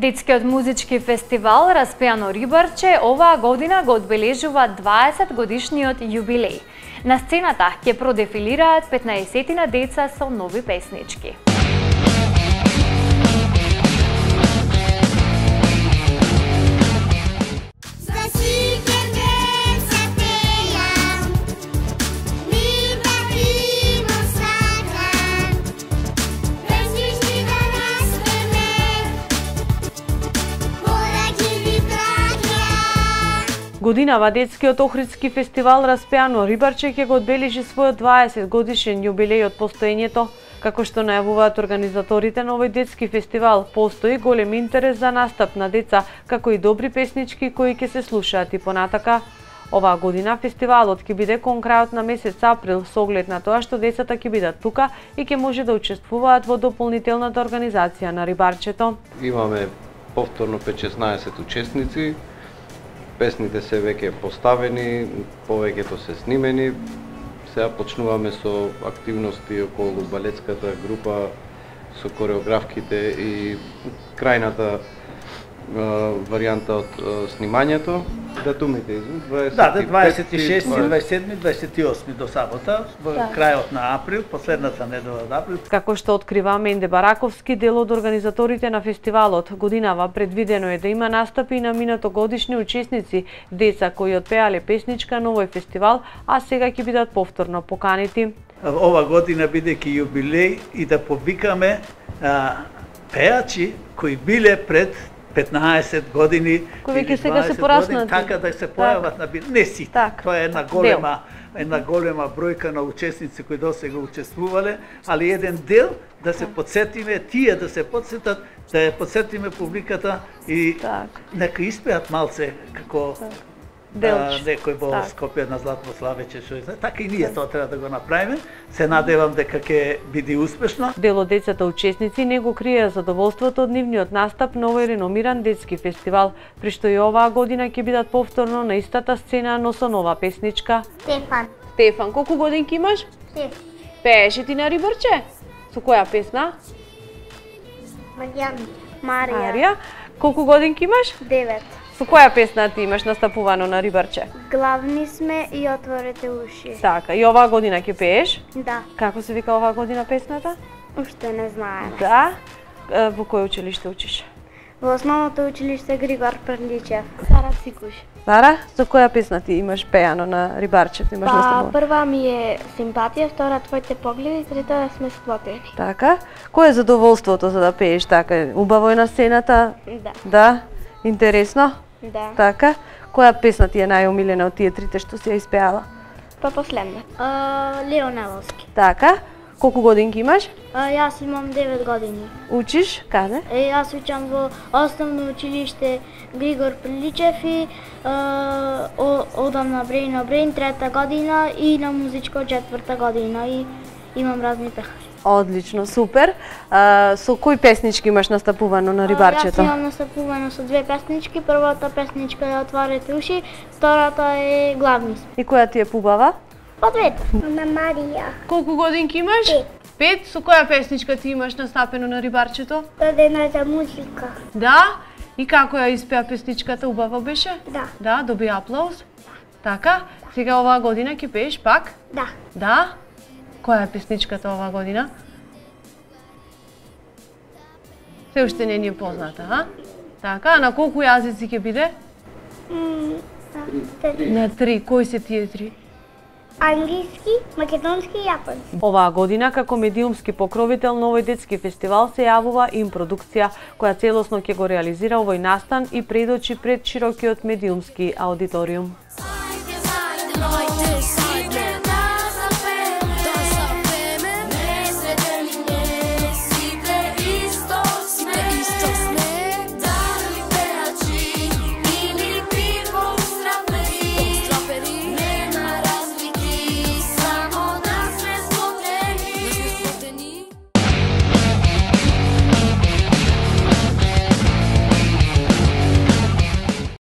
Детскиот музички фестивал Распеано рибарче оваа година го одбележува 20 годишниот јубилеј. На сцената ќе продефилираат 15 деца со нови песнички. Годинава детскиот Охридски фестивал Распеано рибарче ќе го одбележи својот 20 годишен јубилеј од постоењето. Како што најавуваат организаторите на овој детски фестивал, постои голем интерес за настап на деца, како и добри песнички кои ќе се слушаат и понатака. Оваа година фестивалот ќе биде кон крајот на месец април со оглед на тоа што децата ќе бидат тука и ќе може да учествуваат во дополнителната организација на рибарчето. Имаме повторно 5-16 учесници. Песните се веќе поставени, повеќето се снимени. Сега почнуваме со активности околу балетската група, со кореографките и крајната варијанта од снимањето. Датумите, извин, 26, 27, 28 до сабота, во крајот на април, последната недела од април. Како што открива Менде Бараковски, дел од организаторите на фестивалот, годинава предвидено е да има настапи на минатогодишни учесници, деца кои отпеале песничка на овој фестивал, а сега ќе бидат повторно поканети. Ова година бидејќи јубилеј и да повикаме пеачи кои биле пред 15 години, кои веќе сега се пораснати, така да се појават на не сите. Тоа е една голема бројка на учесници кои досега учествувале, али еден дел да се потсетиме, тие да се потсетат, да ја потсетиме публиката и нека испеат малце како некој во Скопје на Златославече, така и ние тоа треба да го направиме. Се надевам дека ќе биде успешно. Дел од децата учесници не го криеа задоволството од нивниот настап на овој реномиран детски фестивал, при што и оваа година ќе бидат повторно на истата сцена, но со нова песничка. Стефан, колку годинки имаш? 6. Пееше ти на рибарче? Со која песна? Марија. Колку годинки имаш? 9. Со која песна ти имаш настапувано на рибарче? Главни сме и отворете уши. Така, и оваа година ќе пееш? Да. Како се вика оваа година песната? Уште не знаеме. Да? Во кој училиште учиш? Во основното училиште Григор Прличев. Сара Цикуш. Сара, со која песна ти имаш пеано на рибарчето? Имаш настапувано? Прва ми е Симпатија, втора Твоите погледи, трета Сме сплотени. Така. Кој е задоволството за да пееш така? Убаво е на сцената? Да. Да? Интересно? Да. Така. Која песна ти е најомилена од тие трите што си ја испеала? Па последна. Леонеловски. Така. Колку годинки имаш? Јас имам 9 години. Учиш? Каде? Јас учам во основно училиште Григор Прличев и одам на Брейн трета година и на музичко 4-та година и имам разни пехари. Одлично, супер. Со кои песнички имаш настапувано на рибарчето? Јас имам настапувано со 2 песнички. Првата песничка е Отворете уши, втората е Главни сме. И која ти е побава? По двете. На Марија. Колку годинки имаш? 5. Со која песничка ти имаш настапено на рибарчето? Родената музика. Да? И како ја испеа песничката? Убава беше? Да. Да, доби аплауз. Така? Сега оваа година ќе пееш пак? Да. Да? Која е песничката оваа година? Се уште не ни е позната, а? Така, а на колку јазици ќе биде? На 3. Кои се тие 3? Англиски, македонски и јапонски. Оваа година како медиумски покровител на овој детски фестивал се јавува импродукција која целосно ќе го реализира овој настан и предочи пред широкиот медиумски аудиториум.